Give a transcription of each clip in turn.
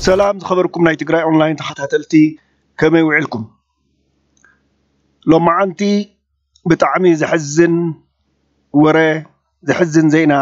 ሰላም ዝኸበርኩም ናይ ትግራይ ኦንላይን ተኸታተልቲ፣ ከመይ ውዒልኩም? ሎማዓንቲ ብጣዕሚ ዘሕዝን ወረ፣ ዘሕዝን ዜና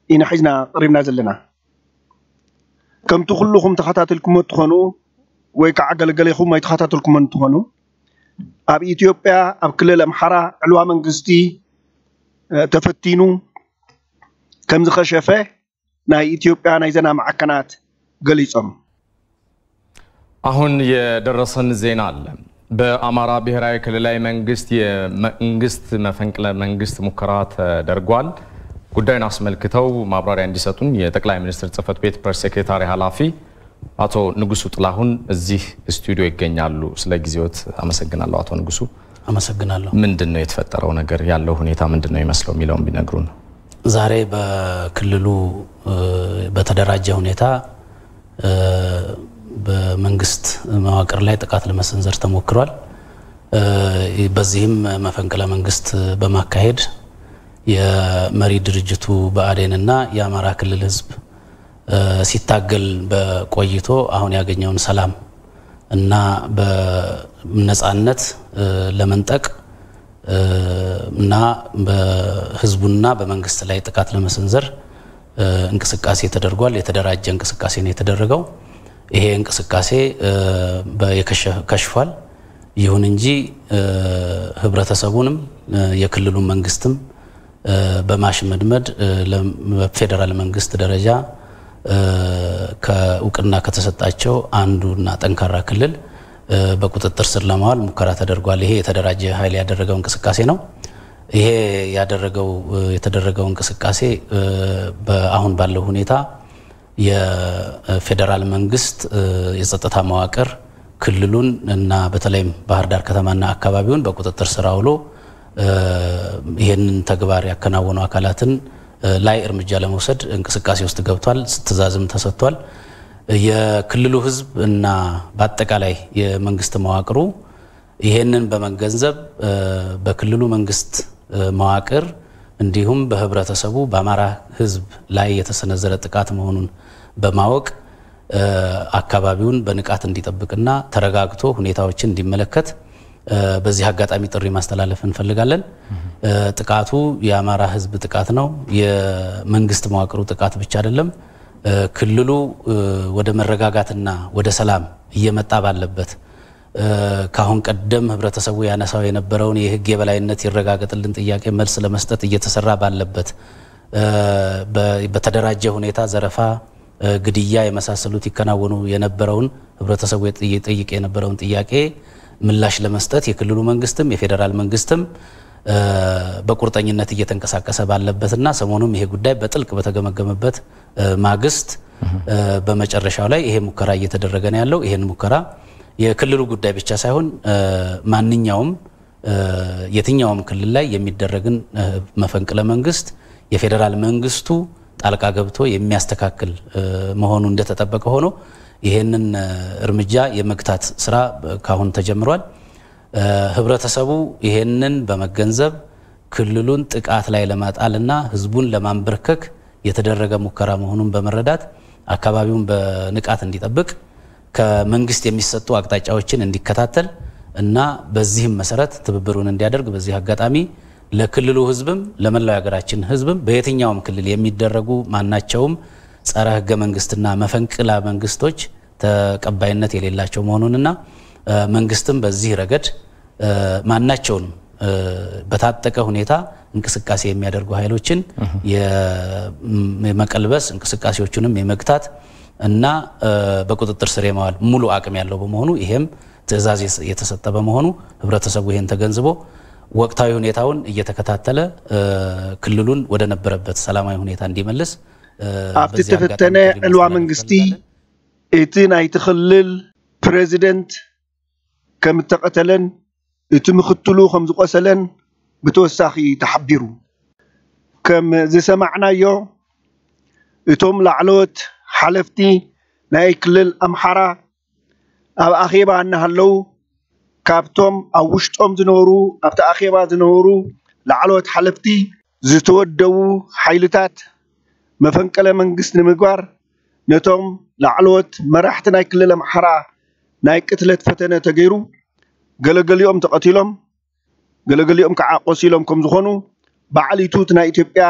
ኢና ሒዝና ቀሪብና ዘለና። ከምቲ ኩልኹም ተኸታተልኩሞ እትኾኑ ወይ ከዓ ገለገሌኹም ኣይተኸታተልኩሞን እንትኾኑ፣ ኣብ ኢትዮጵያ ኣብ ክልል ኣምሓራ ዕልዋ መንግስቲ ተፈቲኑ ከም ዝኸሸፈ ናይ ኢትዮጵያ ናይ ዜና ማዕከናት ገሊጾም። አሁን የደረሰን ዜና አለ። በአማራ ብሔራዊ ክልላዊ መንግስት የመንግስት መፈንቅለ መንግስት ሙከራ ተደርጓል። ጉዳዩን አስመልክተው ማብራሪያ እንዲሰጡን የጠቅላይ ሚኒስትር ጽህፈት ቤት ፕሬስ ሴክሬታሪ ኃላፊ አቶ ንጉሱ ጥላሁን እዚህ ስቱዲዮ ይገኛሉ። ስለ ጊዜዎት አመሰግናለሁ አቶ ንጉሱ። አመሰግናለሁ። ምንድን ነው የተፈጠረው ነገር? ያለው ሁኔታ ምንድን ነው ይመስለው የሚለውን ቢነግሩን። ዛሬ በክልሉ በተደራጀ ሁኔታ በመንግስት መዋቅር ላይ ጥቃት ለመሰንዘር ተሞክሯል። በዚህም መፈንቅለ መንግስት በማካሄድ የመሪ ድርጅቱ ብአዴንና የአማራ ክልል ህዝብ ሲታገል በቆይቶ አሁን ያገኘውን ሰላም እና በነጻነት ለመንጠቅ እና በህዝቡና በመንግስት ላይ ጥቃት ለመሰንዘር እንቅስቃሴ ተደርጓል። የተደራጀ እንቅስቃሴ ነው የተደረገው። ይሄ እንቅስቃሴ ከሽፏል። ይሁን እንጂ ህብረተሰቡንም የክልሉ መንግስትም በማሽመድመድ በፌዴራል መንግስት ደረጃ ከእውቅና ከተሰጣቸው አንዱና ጠንካራ ክልል በቁጥጥር ስር ለማዋል ሙከራ ተደርጓል። ይሄ የተደራጀ ኃይል ያደረገው እንቅስቃሴ ነው። ይሄ ያደረገው የተደረገው እንቅስቃሴ አሁን ባለው ሁኔታ የፌዴራል መንግስት የጸጥታ መዋቅር ክልሉን እና በተለይም ባህር ዳር ከተማና አካባቢውን በቁጥጥር ስር አውሎ ይህንን ተግባር ያከናወኑ አካላትን ላይ እርምጃ ለመውሰድ እንቅስቃሴ ውስጥ ገብቷል። ትዕዛዝም ተሰጥቷል። የክልሉ ህዝብ እና በአጠቃላይ የመንግስት መዋቅሩ ይህንን በመገንዘብ በክልሉ መንግስት መዋቅር እንዲሁም በህብረተሰቡ በአማራ ህዝብ ላይ የተሰነዘረ ጥቃት መሆኑን በማወቅ አካባቢውን በንቃት እንዲጠብቅና ተረጋግቶ ሁኔታዎችን እንዲመለከት በዚህ አጋጣሚ ጥሪ ማስተላለፍ እንፈልጋለን። ጥቃቱ የአማራ ህዝብ ጥቃት ነው። የመንግስት መዋቅሩ ጥቃት ብቻ አይደለም። ክልሉ ወደ መረጋጋትና ወደ ሰላም እየመጣ ባለበት፣ ካሁን ቀደም ህብረተሰቡ ያነሳው የነበረውን የህግ የበላይነት ይረጋገጥልን ጥያቄ መልስ ለመስጠት እየተሰራ ባለበት፣ በተደራጀ ሁኔታ ዘረፋ፣ ግድያ የመሳሰሉት ይከናወኑ የነበረውን፣ ህብረተሰቡ ይጠይቅ የነበረውን ጥያቄ ምላሽ ለመስጠት የክልሉ መንግስትም የፌዴራል መንግስትም በቁርጠኝነት እየተንቀሳቀሰ ባለበትና ሰሞኑም ይሄ ጉዳይ በጥልቅ በተገመገመበት ማግስት በመጨረሻው ላይ ይሄ ሙከራ እየተደረገ ነው ያለው። ይሄን ሙከራ የክልሉ ጉዳይ ብቻ ሳይሆን ማንኛውም የትኛውም ክልል ላይ የሚደረግን መፈንቅለ መንግስት የፌዴራል መንግስቱ ጣልቃ ገብቶ የሚያስተካክል መሆኑ እንደተጠበቀ ሆኖ ይሄንን እርምጃ የመግታት ስራ ካሁን ተጀምሯል። ህብረተሰቡ ይሄንን በመገንዘብ ክልሉን ጥቃት ላይ ለማጣልና ህዝቡን ለማንበርከክ የተደረገ ሙከራ መሆኑን በመረዳት አካባቢውን በንቃት እንዲጠብቅ ከመንግስት የሚሰጡ አቅጣጫዎችን እንዲከታተል እና በዚህም መሰረት ትብብሩን እንዲያደርግ በዚህ አጋጣሚ ለክልሉ ህዝብም ለመላው የሀገራችን ህዝብም በየትኛውም ክልል የሚደረጉ ማናቸውም ጸረ ህገ መንግስትና መፈንቅለ መንግስቶች ተቀባይነት የሌላቸው መሆኑንና መንግስትም በዚህ ረገድ ማናቸውንም በታጠቀ ሁኔታ እንቅስቃሴ የሚያደርጉ ኃይሎችን የመቀልበስ እንቅስቃሴዎቹንም የመግታት እና በቁጥጥር ስር የማዋል ሙሉ አቅም ያለው በመሆኑ ይሄም ትዕዛዝ የተሰጠ በመሆኑ ህብረተሰቡ ይሄን ተገንዝቦ ወቅታዊ ሁኔታውን እየተከታተለ ክልሉን ወደ ነበረበት ሰላማዊ ሁኔታ እንዲመልስ ኣብቲ ተፈተነ ዕልዋ መንግስቲ እቲ ናይቲ ክልል ፕሬዚደንት ከም እተቐተለን እቲ ምኽትሉ ከም ዝቖሰለን ብተወሳኺ ተሓቢሩ። ከም ዝሰማዕናዮ እቶም ላዕለዎት ሓለፍቲ ናይ ክልል ኣምሓራ ኣብ ኣኼባ እናሃለዉ ካብቶም ኣብ ውሽጦም ዝነበሩ ኣብቲ ኣኼባ ዝነበሩ ላዕለዎት ሓለፍቲ ዝተወደቡ ሓይልታት መፈንቅለ መንግስት ንምግባር ነቶም ላዕለዎት መራሕቲ ናይ ክልል ኣምሓራ ናይ ቅትለት ፈተነ ተገይሩ፣ ገለገሊኦም ተቐቲሎም፣ ገለገሊኦም ከዓ ቆሲሎም ከም ዝኾኑ በዓል ኢቱ እቲ ናይ ኢትዮጵያ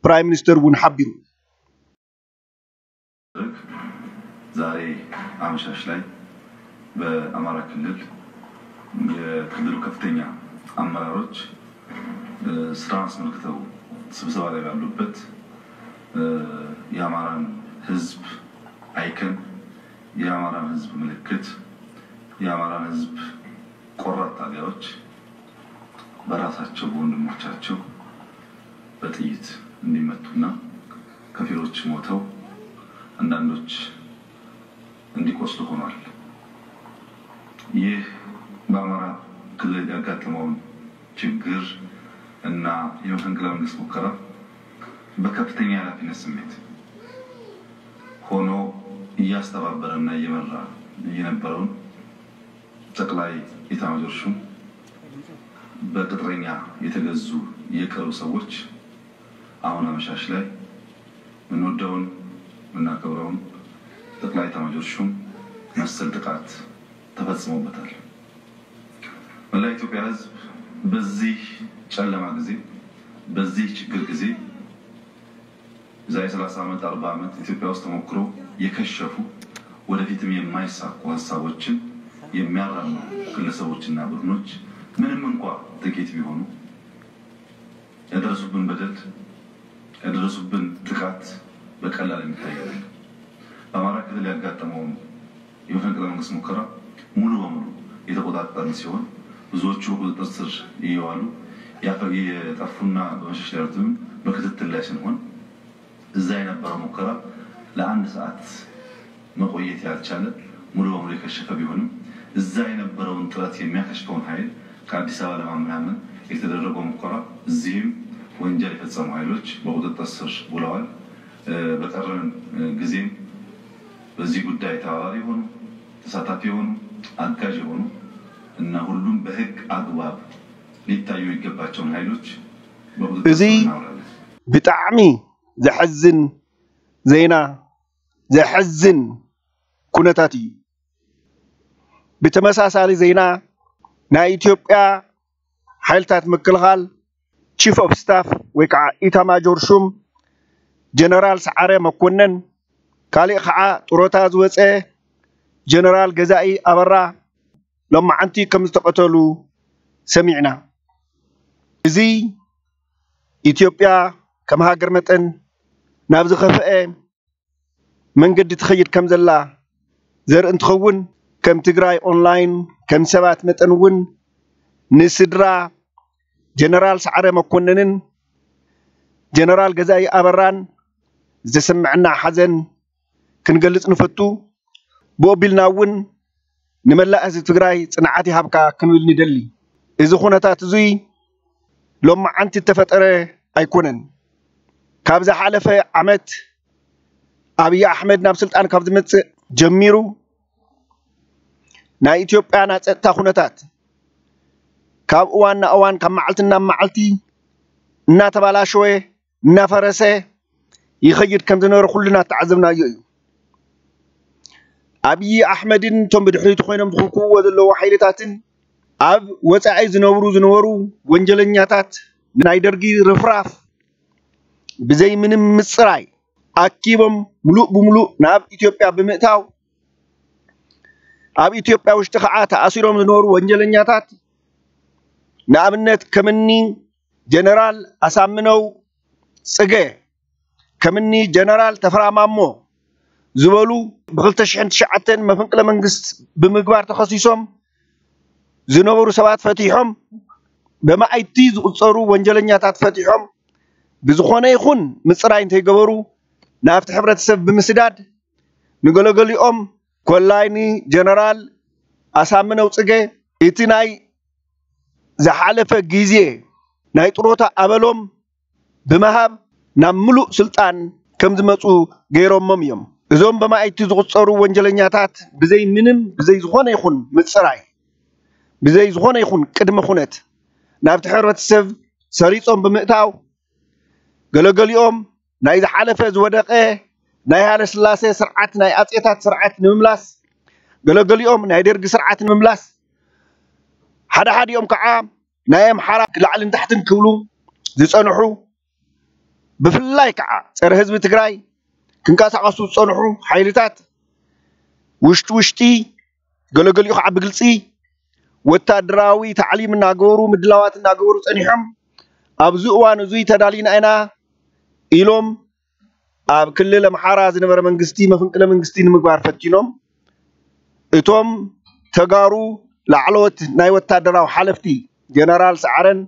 ፕራይም ሚኒስተር እውን ሓቢሩ። ዛሬ አመሻሽ ላይ በአማራ ክልል የክልሉ ከፍተኛ አመራሮች ስራን አስመልክተው ስብሰባ ላይ ባሉበት የአማራን ህዝብ አይከን፣ የአማራን ህዝብ ምልክት፣ የአማራን ህዝብ ቆራጥ ታጋዮች በራሳቸው በወንድሞቻቸው በጥይት እንዲመቱና ከፊሎች ሞተው አንዳንዶች እንዲቆስሉ ሆኗል። ይህ በአማራ ክልል ያጋጠመውን ችግር እና የመፈንቅለ መንግስት ሙከራ በከፍተኛ የኃላፊነት ስሜት ሆኖ እያስተባበረና እየመራ የነበረውን ጠቅላይ ኢታማጆር ሹም በቅጥረኛ የተገዙ የቅርብ ሰዎች አሁን አመሻሽ ላይ የምንወደውን የምናከብረውን ጠቅላይ ኢታማጆር ሹም መሰል ጥቃት ተፈጽሞበታል። መላ ኢትዮጵያ ህዝብ በዚህ ጨለማ ጊዜ፣ በዚህ ችግር ጊዜ የዛሬ ሠላሳ ዓመት፣ አርባ ዓመት ኢትዮጵያ ውስጥ ተሞክሮ የከሸፉ፣ ወደፊትም የማይሳኩ ሀሳቦችን የሚያራምዱ ግለሰቦችና ቡድኖች ምንም እንኳ ጥቂት ቢሆኑ ያደረሱብን በደል፣ ያደረሱብን ጥቃት በቀላል የሚታይ አይደለም። በአማራ ክልል ያጋጠመውን የመፈንቅለ መንግስት ሙከራ ሙሉ በሙሉ የተቆጣጠርን ሲሆን ብዙዎቹ በቁጥጥር ስር እየዋሉ የጠፉና በመሸሽ ላይ ያሉትንም በክትትል ላይ ስንሆን እዛ የነበረው ሙከራ ለአንድ ሰዓት መቆየት ያልቻለ ሙሉ በሙሉ የከሸፈ ቢሆንም እዛ የነበረውን ጥረት የሚያከሽፈውን ኃይል ከአዲስ አበባ ለማመናመን የተደረገው ሙከራ እዚህም ወንጀል የፈጸሙ ኃይሎች በቁጥጥር ስር ውለዋል። በቀረን ጊዜም በዚህ ጉዳይ ተባባሪ የሆኑ ተሳታፊ የሆኑ አጋዥ የሆኑ እና ሁሉም በህግ አግባብ ሊታዩ የሚገባቸውን ኃይሎች በቁጥጥር እዚ ስር እናውላለን። ብጣዕሚ ዘሕዝን ዜና፣ ዘሕዝን ኩነታት እዩ። ብተመሳሳሊ ዜና ናይ ኢትዮጵያ ሓይልታት ምክልኻል ቺፍ ኦፍ ስታፍ ወይ ከዓ ኢታማጆር ሹም ጀነራል ሰዓረ መኮነን፣ ካሊእ ከዓ ጡረታ ዝወፀ ጀነራል ገዛኢ ኣበራ ሎማዓንቲ ከም ዝተቐተሉ ሰሚዕና። እዚ ኢትዮጵያ ከም ሃገር መጠን ናብ ዝኸፍአ መንገዲ ትኸይድ ከም ዘላ ዘርኢ እንትኸውን፣ ከም ትግራይ ኦንላይን ከም ሰባት መጠን እውን ንስድራ ጀነራል ሰዓረ መኮነንን ጀነራል ገዛኢ ኣበራን ዝተሰምዐና ሓዘን ክንገልጽ ንፈቱ። ብኡ ኣቢልና እውን ንመላእ ህዝቢ ትግራይ ጽንዓት ይሃብካ ክንብል ንደሊ። እዚ ኩነታት እዙይ ሎማዓንቲ እተፈጠረ ኣይኮነን። ካብ ዝሓለፈ ዓመት ኣብይ ኣሕመድ ናብ ስልጣን ካብ ዝመጽእ ጀሚሩ ናይ ኢትዮጵያ ናይ ጸጥታ ኩነታት ካብ እዋን ናብ እዋን ካብ መዓልቲ ናብ መዓልቲ እናተባላሸወ እናፈረሰ ይኸይድ ከም ዝነበረ ኩልና ተዓዘብናዮ እዩ። ኣብይ ኣሕመድን እቶም ብድሕሪቱ ኮይኖም ዝኽክውዎ ዘለዉ ሓይልታትን ኣብ ወፃኢ ዝነብሩ ዝነበሩ ወንጀለኛታት ናይ ደርጊ ርፍራፍ ብዘይ ምንም ምፅራይ ኣኪቦም ሙሉእ ብሙሉእ ናብ ኢትዮጵያ ብምእታው ኣብ ኢትዮጵያ ውሽጢ ከዓ ተኣሲሮም ዝነበሩ ወንጀለኛታት ንኣብነት ከምኒ ጀነራል ኣሳምነው ፅገ ከምኒ ጀነራል ተፈራ ማሞ ዝበሉ ብ ክልተ ሽሕን ትሽዓተን መፈንቅለ መንግስት ብምግባር ተኸሲሶም ዝነበሩ ሰባት ፈቲሖም ብመኣይቲ ዝቑፀሩ ወንጀለኛታት ፈቲሖም ብዝኾነ ይኹን ምፅራይ እንተይገበሩ ናብቲ ሕብረተሰብ ብምስዳድ ንገለገሊኦም ኮላይ ንጀነራል ኣሳምነው ፅገ እቲ ናይ ዝሓለፈ ግዜ ናይ ጥሮታ ኣበሎም ብምሃብ ናብ ምሉእ ስልጣን ከም ዝመፁ ገይሮሞም እዮም። እዞም በማይቲ ዝቁፀሩ ወንጀለኛታት ብዘይ ምንም ብዘይ ዝኾነ ይኹን ምፅራይ ብዘይ ዝኾነ ይኹን ቅድመ ኩነት ናብቲ ሕብረተሰብ ሰሪፆም ብምእታው ገለገሊኦም ናይ ዝሓለፈ ዝወደቐ ናይ ሃይለስላሴ ስርዓት፣ ናይ ኣጼታት ስርዓት ንምምላስ፣ ገለገሊኦም ናይ ደርጊ ስርዓት ንምምላስ፣ ሓደ ሓዲኦም ከዓ ናይ ኣምሓራ ላዕልን ታሕትን ክብሉ ዝጸንሑ፣ ብፍላይ ከዓ ጸረ ህዝቢ ትግራይ ክንቀሳቐሱ ዝጸንሑ ሓይልታት ውሽጢ ውሽጢ፣ ገለገሊኡ ከዓ ብግልጺ ወታደራዊ ታዕሊም እናገበሩ፣ ምድላዋት እናገበሩ ጸኒሖም፣ ኣብዚ እዋን እዙይ ተዳሊና ኢና ኢሎም ኣብ ክልል ኣምሓራ ዝነበረ መንግስቲ መፈንቅለ መንግስቲ ንምግባር ፈቲኖም። እቶም ተጋሩ ላዕለዎት ናይ ወታደራዊ ሓለፍቲ ጀነራል ሰዓረን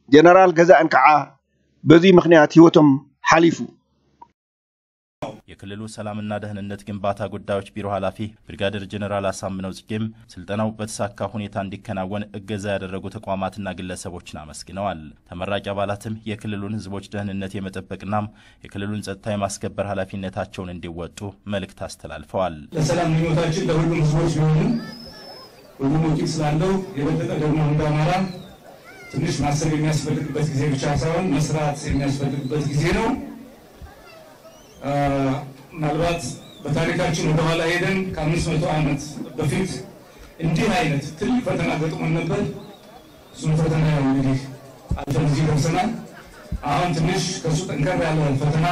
ጀነራል ገዛእን ከዓ በዚ ምኽንያት ህይወቶም ሓሊፉ። የክልሉ ሰላምና ደህንነት ግንባታ ጉዳዮች ቢሮ ኃላፊ ብርጋዴር ጀነራል አሳምነው ጽጌም ስልጠናው በተሳካ ሁኔታ እንዲከናወን እገዛ ያደረጉ ተቋማትና ግለሰቦችን አመስግነዋል። ተመራቂ አባላትም የክልሉን ህዝቦች ደህንነት የመጠበቅና የክልሉን ጸጥታ የማስከበር ኃላፊነታቸውን እንዲወጡ መልእክት አስተላልፈዋል። ለሰላም ምኞታችን ለሁሉም ህዝቦች ቢሆንም ሁሉም ውጤት ስላለው የበለጠ ደግሞ እንደ አማራ ትንሽ ማሰብ የሚያስፈልግበት ጊዜ ብቻ ሳይሆን መስራት የሚያስፈልግበት ጊዜ ነው። ምናልባት በታሪካችን ወደኋላ ሄደን ከአምስት መቶ ዓመት በፊት እንዲህ አይነት ትልቅ ፈተና ገጥሞን ነበር። እሱም ፈተና ያው እንግዲህ አልፈን እዚህ ደርሰናል። አሁን ትንሽ ከሱ ጠንከር ያለ ፈተና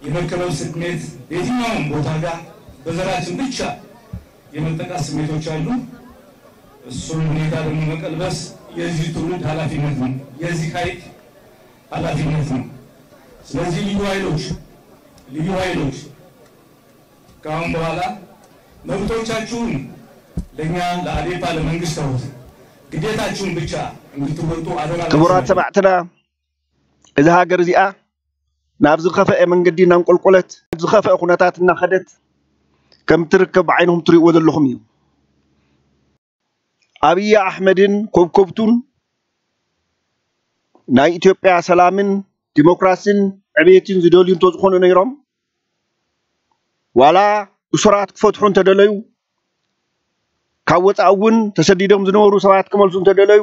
የመከበብ ስሜት በየትኛውም ቦታ ጋር በዘራችን ብቻ የመጠቃት ስሜቶች አሉ። እሱን ሁኔታ ደግሞ መቀልበስ የዚህ ትውልድ ኃላፊነት ነው፣ የዚህ ኃይል ኃላፊነት ነው። ስለዚህ ልዩ ኃይሎች ልዩ ኃይሎች ከአሁን በኋላ መብቶቻችሁን ለእኛ ለአዴፓ ለመንግስት ተውት፣ ግዴታችሁን ብቻ እንድትወጡ አደራ። ክቡራት ሰማዕትና፣ እዛ ሃገር እዚኣ ናብ ዝኸፈአ መንገዲ እናንቆልቆለት፣ ዝኸፈአ ኩነታት እናኸደት ከም ትርከብ ብዓይንኹም ትርእይዎ ዘለኹም እዩ። ኣብይ ኣሕመድን ኮብኮብቱን ናይ ኢትዮጵያ ሰላምን ዲሞክራሲን ዕብየትን ዝደልዩ እንተዝኾኑ ነይሮም፣ ዋላ እሱራት ክፈትሑ እንተደለዩ፣ ካብ ወፃኢ እውን ተሰዲዶም ዝነበሩ ሰባት ክመልሱ እንተደለዩ፣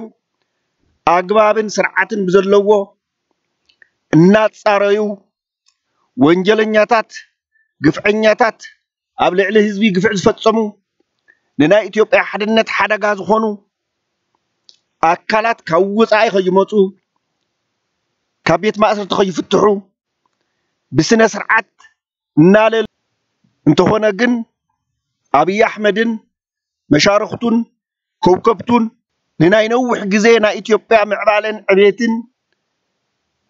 ኣግባብን ስርዓትን ብዘለዎ እናፃረዩ፣ ወንጀለኛታት፣ ግፍዐኛታት፣ ኣብ ልዕሊ ህዝቢ ግፍዕ ዝፈፀሙ፣ ንናይ ኢትዮጵያ ሓድነት ሓደጋ ዝኾኑ ኣካላት ካብ ወፃኢ ከይመፁ፣ ካብ ቤት ማእሰርቲ ከይፍትሑ ብስነ ስርዓት እናለሉ፣ እንተኾነ ግን ኣብይ ኣሕመድን መሻርኽቱን ከውከብቱን ንናይ ነዊሕ ግዜ ናይ ኢትዮጵያ ምዕባለን ዕቤትን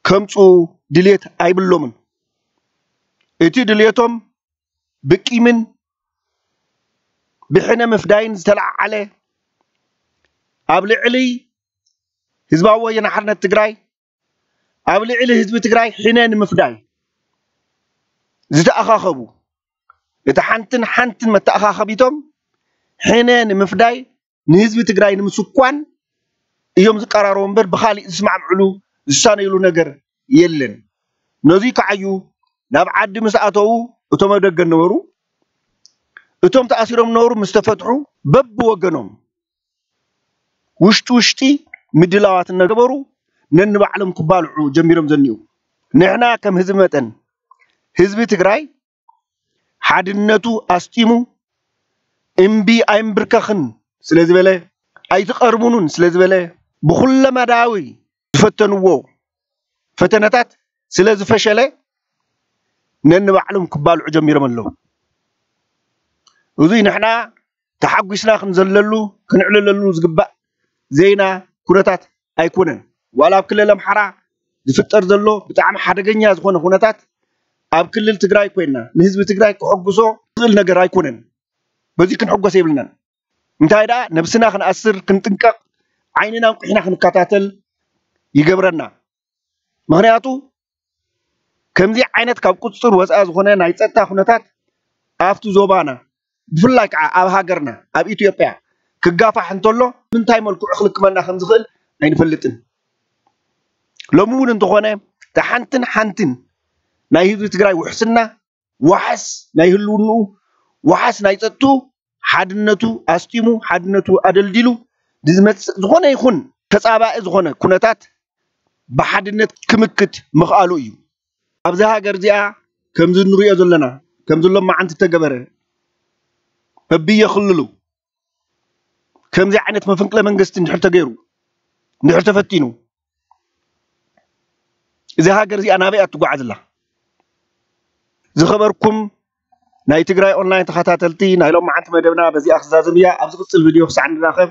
ከምፁ ድልየት ኣይብሎምን። እቲ ድልየቶም ብቂምን ብሕነ ምፍዳይን ዝተለዓዓለ፣ ኣብ ልዕሊ ህዝባዊ ወያነ ሓርነት ትግራይ፣ ኣብ ልዕሊ ህዝቢ ትግራይ ሕነ ንምፍዳይ ዝተኣኻኸቡ፣ እቲ ሓንትን ሓንትን መተኣኻኸቢቶም ሕነ ንምፍዳይ፣ ንህዝቢ ትግራይ ንምስኳን እዮም ዝቀራረቡ እምበር ብኻሊእ ዝስማዕምዕሉ ዝሳነይሉ ነገር የለን። ነዙይ ከዓ እዩ ናብ ዓዲ ምስ ኣተዉ እቶም ኣብ ደገ ነበሩ፣ እቶም ተኣሲሮም ነበሩ ምስ ተፈትሑ በብወገኖም ውሽጢ ውሽጢ ምድላዋት እናገበሩ ነንባዕሎም ክባልዑ ጀሚሮም ዘኒኡ። ንሕና ከም ህዝቢ መጠን ህዝቢ ትግራይ ሓድነቱ ኣስጢሙ እምቢ ኣይምብርከኽን ስለ ዝበለ፣ ኣይትቐርቡኑን ስለ ዝበለ፣ ብኩለመዳያዊ ዝፈተንዎ ፈተነታት ስለ ዝፈሸለ ነንባዕሎም ክባልዑ ጀሚሮም ኣለዉ። እዙይ ንሕና ተሓጒስና ክንዘለሉ ክንዕልለሉ ዝግባእ ዘይና ኩነታት ኣይኮነን። ዋላ ኣብ ክልል ኣምሓራ ዝፍጠር ዘሎ ብጣዕሚ ሓደገኛ ዝኾነ ኩነታት ኣብ ክልል ትግራይ ኮይንና ንህዝቢ ትግራይ ክሕጉሶ ዝኽእል ነገር ኣይኮነን። በዚ ክንሕጎስ የብልናን። እንታይ ደኣ ነብስና ክንኣስር ክንጥንቀቕ ዓይንና እንቁሒና ክንከታተል ይገብረና። ምኽንያቱ ከምዚ ዓይነት ካብ ቁፅፅር ወፃኢ ዝኾነ ናይ ፀጥታ ኩነታት ኣብቲ ዞባና ብፍላይ ከዓ ኣብ ሃገርና ኣብ ኢትዮጵያ ክጋፋሕ እንተሎ ምንታይ መልክዑ ክልክመና ከም ዝኽእል ኣይንፈልጥን። ሎሚ እውን እንተኾነ እታ ሓንትን ሓንትን ናይ ህዝቢ ትግራይ ውሕስና፣ ዋሕስ ናይ ህልውንኡ፣ ዋሕስ ናይ ፀጥትኡ ሓድነቱ ኣስጢሙ ሓድነቱ ኣደልዲሉ ንዝመፅእ ዝኾነ ይኹን ተፃባኢ ዝኾነ ኩነታት ብሓድነት ክምክት ምኽኣሉ እዩ። ኣብዚ ሃገር እዚኣ ከምዚ እንሪኦ ዘለና ከምዚ ሎም መዓንቲ ተገበረ፣ በብየ ክልሉ ከምዚ ዓይነት መፈንቅለ መንግስቲ እንድሕር ተገይሩ፣ እንድሕር ተፈቲኑ፣ እዚ ሃገር እዚኣ ናበይ እያ ትጓዓዝ ኣላ? ዝኸበርኩም ናይ ትግራይ ኦንላይን ተኸታተልቲ፣ ናይ ሎም መዓንቲ መደብና በዚኣ ክዛዘም እያ። ኣብ ዝቕጽል ቪድዮ ክሳዕ እንራኸብ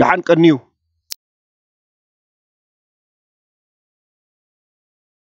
ደሓን ቀንዩ።